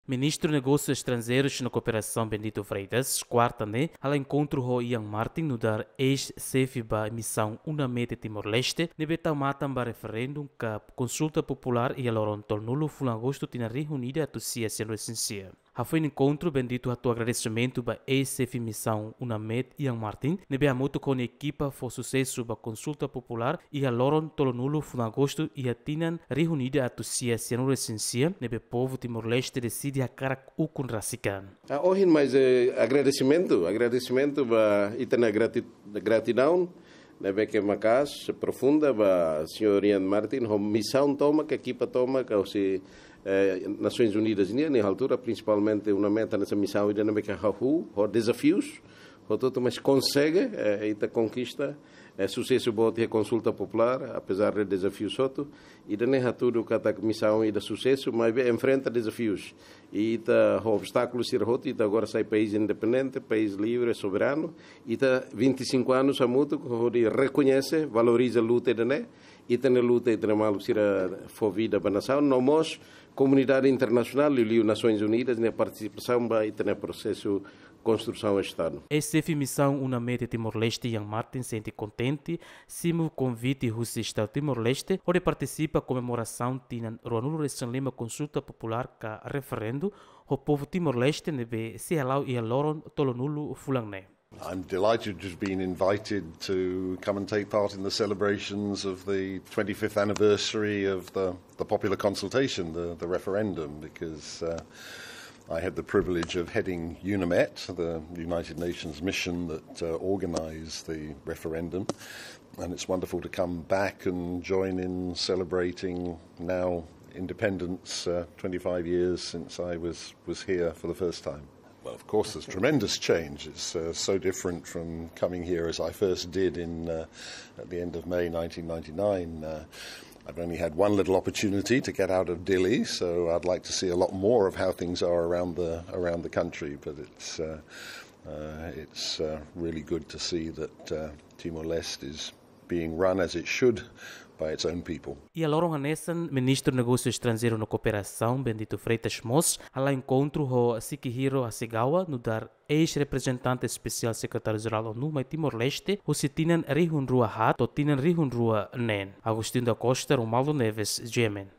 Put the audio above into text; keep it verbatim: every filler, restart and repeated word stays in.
Ministru Negósius Estranjeirus no Kooperasaun Bendito Freitas, kuarta ne'e, hala'o enkontru ho Ian Martin, nu'udar eis-xefe ba misaun UNAMED iha Timor-Leste, ne'ebé tau matan ba referendu ka konsulta populár iha loron tolunulu fulan Agostu tinan rihun ida atus sia sianulu-resin-sia. Hafoin enkontru, Bendito hato'o agradesimentu ba eis-xefe misaun UNAMED Ian Martin, ne'ebé hamutuk ho nia ekipa fó susesu ba konsulta populár iha loron tolunulu fulan Agostu iha tinan rihun ida atus sia sianulu-resin-sia, ne'ebé povu Timor-Leste deside hakarak ukun rasik an. Ah, ohin mais, eh, agradesimentu, agradesimentu ba ita-nia grati-, gratidaun ne'ebé ke maka'as, profunda ba señór Ian Martin, ho misaun tomak, ekipa tomak, ka husi, eh, Nasoins Unidas nian, iha altura, prinsipalmente, UNAMED hanesan misaun ida ne'ebé ke hahú ho dezafius hotu-hotu, mais konsege, eh, ita konkista, eh, susesu boot iha konsulta populár, apezar de dezafius hotu, ida-ne'e hatudu katak misaun ida susesu, maibé enfrenta dezafius. I ita ho obstákulu sira hotu, ita agora sai país independente, país livre, soberanu. Ita vinte e cinco anos hamutuk hodi rekoñese, valoriza luta ida-ne'e. Ita-nia luta, ita-nia maluk sira fó vida ba nasaun, no mós komunidade internasionál, liuliu Nasoins Unidas, nia partisipasaun ba ita-nia prosesu konstrusaun Estadu. Eis-xefe misaun UNAMED Timor-Leste Ian Martin sente kontente simu konvite husi Estadu Timor-Leste hodi partisipa komemorasaun tinan ruanulu-resin-lima konsulta populár ka referendu ho povu Timor-Leste ne'ebé sei hala'o iha loron tolunulu fulan ne'e. I'm delighted to have been invited to come and take part in the celebrations of the twenty-fifth anniversary of the, the popular consultation, the, the referendum, because, uh, I had the privilege of heading UNAMED, the United Nations mission that, uh, organized the referendum. And it's wonderful to come back and join in celebrating now independence, uh, twenty-five years since I was, was here for the first time. Well, of course, there's tremendous change. It's, uh, so different from coming here as I first did in, uh, at the end of May nineteen ninety-nine. Uh, I've only had one little opportunity to get out of Dili, so I'd like to see a lot more of how things are around the, around the country. But it's, uh, uh, it's, uh, really good to see that, uh, Timor-Leste is being run as it should by its own people. Iha loron hanesan, Ministru Negósius Estranjeirus no Kooperasaun, Bendito Freitas mós hala'o enkontru ho Shigehiro Hasegawa, nu'udar eis-reprezentante espesiál Sekretáriu-Jerál ONU mai Timor-Leste, husi tinan rihun rua haat to'o tinan rihun rua neen. Agostinho da Costa, Romualdo Neves, G M N.